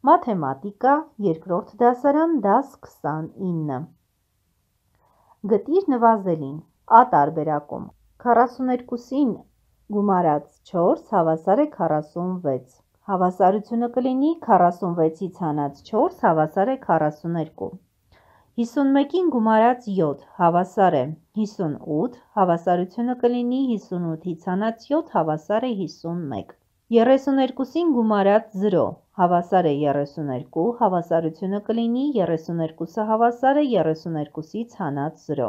Մաթեմատիկա, երկրորդ դասարան, դաս 29։ Գտիր նվազելին, Ա տարբերակում, 42-ին գումարած 4 հավասար է 46, հավասարությունը կլինի 46-ից հանած 4 հավասար է 42, 51-ին գումարած 7 հավասար է 58, հավասարությունը կլինի 58-ից հանած 7 հավասար է 51, 32-ին գումարած 0 հավասար է 32, հավասարությունը կլինի 32-ը հավասար է 32-ից հանած 0,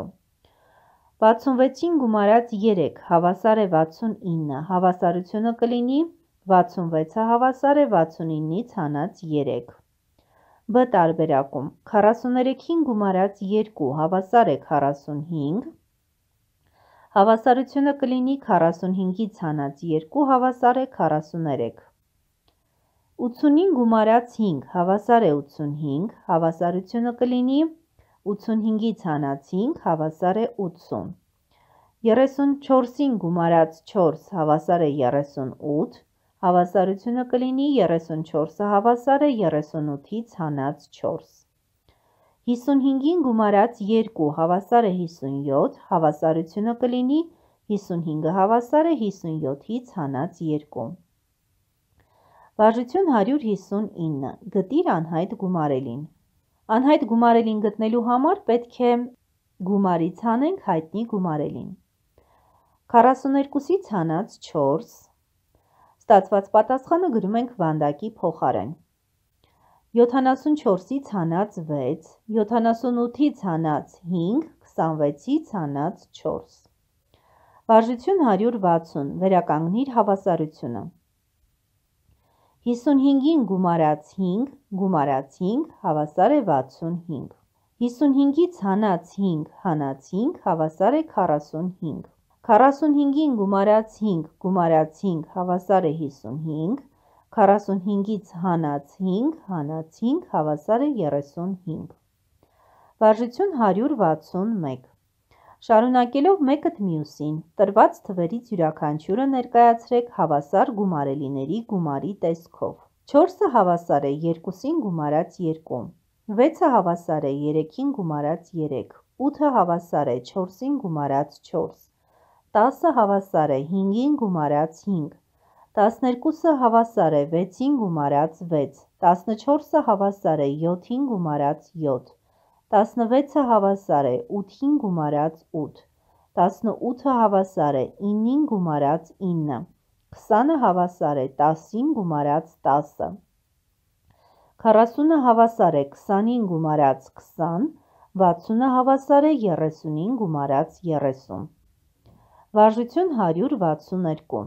66-ին գումարած 3 հավասար է 69, հավասարությունը կլինի 66-ը հավասար է 69-ից հանած 3, B տարբերակում, 43-ին գումարած 2 հավասար է 45, հավասարությունը կլինի 45-ից հանած 2 հավասար է 43, 80-ին գումարած 5 հավասար է 85, հավասարությունը կլինի 85-ից հանած 5 հավասար է 80, 34-ին գումարած 4 հավասար է 38, հավասարությունը կլինի 34-ը հավասար է 38-ից հանած 4, 55-ին գումարած 2 հավասար է 57, հավասարությունը կլինի 55-ը հավասար է 57-ից հանած 2, Վարժություն 159, գտիր անհայտ գումարելին, անհայտ գումարելին գտնելու համար պետք է գումարից հանենք հայտնի գումարելին, 42-ից հանած 4, ստացված պատասխանը գրում ենք վանդակի փոխարեն, 74-ից հանած 6, 78-ից հանած 5, 26-ից հանած 4, վարժություն 160, վերականգնիր հավասարությունը, 55-ին գումարած 5, գումարած 5, հավասար է 65, 55-ից հանած 5, հանած 5, հավասար է 45, 45-ին գումարած 5, գումարած 5, հավասար է 55, 45-ից հանած 5, հանած 5, հավասար է 35, վարժություն 161, շարունակելով մեկըդ մյուսին, տրված թվերից յուրաքանչյուրը ներկայացրեք հավասար գումարելիների գումարի տեսքով, 4-ը հավասար է 2-ին գումարած 2, 6-ը հավասար է 3-ին գումարած 3, 8-ը հավասար է 4-ին գումարած 4, 10-ը հավասար է 5-ին գումարած 5, 12-ը հավասար է 6-ին գումարած 6, 14-ը հավասար է 7-ին գումարած 7, 16-ը հավասար է 8-ին գումարած 8, 18-ը հավասար է 9-ին գումարած 9, 20-ը հավասար է 10-ին գումարած 10, 40-ը հավասար է 20-ին գումարած 20, 60-ը հավասար է 30-ին գումարած 30, վարժություն 162,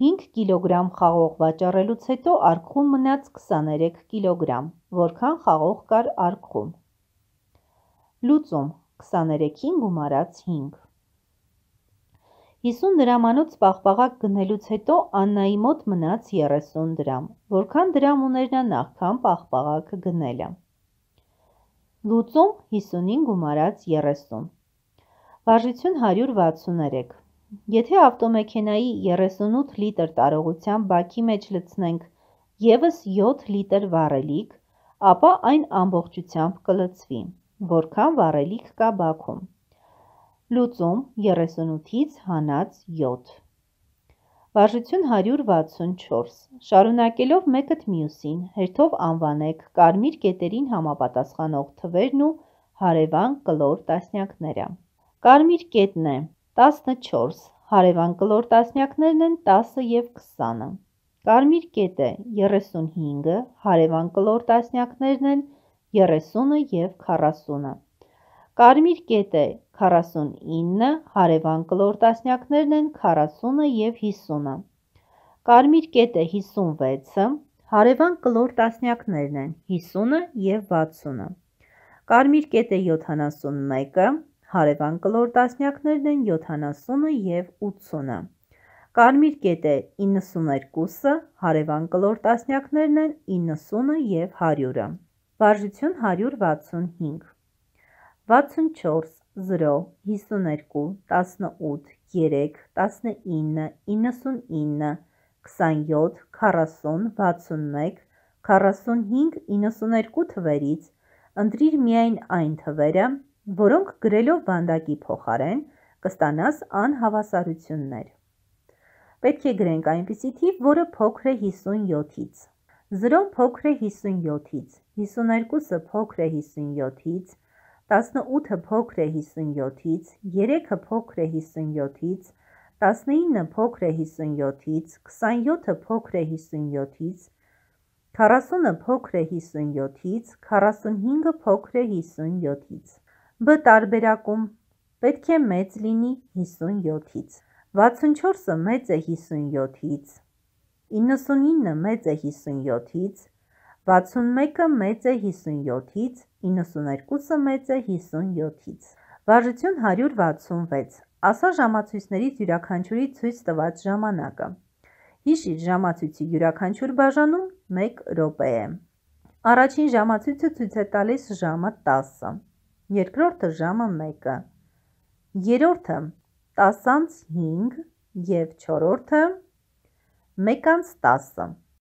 5 կիլոգրամ խաղող վաճառելուց հետո արկղում մնաց 23 կիլոգրամ, որքան խաղող կար արկղում, լուծում 23-ին գումարած 5, 50 դրամանոց պաղպաղակ գնելուց հետո Աննայի մոտ մնաց 30 դրամ, որքան դրամ ուներ նա նախքան պաղպաղակը գնելը, լուծում 50-ին գումարած 30, վարժություն 163, եթե ավտոմեքենայի 38 լիտր տարողության բաքի մեջ լցնենք ևս 7 լիտր վառելիք, ապա այն ամբողջությամբ կլցվի, որքան վառելիք կա բաքում, լուծում 38-ից հանած 7, վարժություն 164, շարունակելով մեկըդ մյուսին, հերթով անվանեք կարմիր կետերին համապատասխանող թվերն ու հարևան կլոր տասնյակները, կարմիր կետն է 14, հարևան կլոր տասնյակներն են 10 և 20, կարմիր կետը 35, հարևան կլոր տասնյակներն են 30 և 40, կարմիր կետը 49, հարևան կլոր տասնյակներն են 40 և 50, կարմիր կետը 56, հարևան կլոր տասնյակներն են 50 և 60, կարմիր կետը 71, հարևան կլոր տասնյակներն են 70 և 80, կարմիր կետը 92, հարևան կլոր տասնյակներն են 90 և 100, վարժություն 165, 64, 0, 52, 18, 3, 19, 99, 27, 40, 61, 45, 92 թվերից ընտրիր միայն այն թվերը, որոնք գրելով վանդակի փոխարեն կստանաս անհավասարություններ։ Պետք է գրենք այնպիսի թիվ, որը փոքր է 57-ից։ 0-ն փոքր է 57-ից, 52-ը փոքր է 57-ից, 18-ը փոքր է 57-ից, 3-ը փոքր է 57-ից, 19-ը փոքր է 57-ից, 27-ը փոքր է 57-ից, 40-ը փոքր է 57-ից, 45-ը փոքր է 57-ից։ B տարբերակում պետք է մեծ լինի 57-ից։ 64-ը մեծ է 57-ից, 99-ը մեծ է 57-ից, 61-ը մեծ է 57-ից, 92-ը մեծ է 57-ից։ Վարժություն 166։ Ասա ժամացույցներից յուրաքանչյուրի ցույց տված ժամանակը։ Հիշիր, ժամացույցի յուրաքանչյուր բաժանում 1 րոպե է։ Առաջին ժամացույցը ցույց է տալիս ժամը 10-ը, երկրորդը ժամը 1-ը, երրորդը 10:05 և չորրորդը 1:10։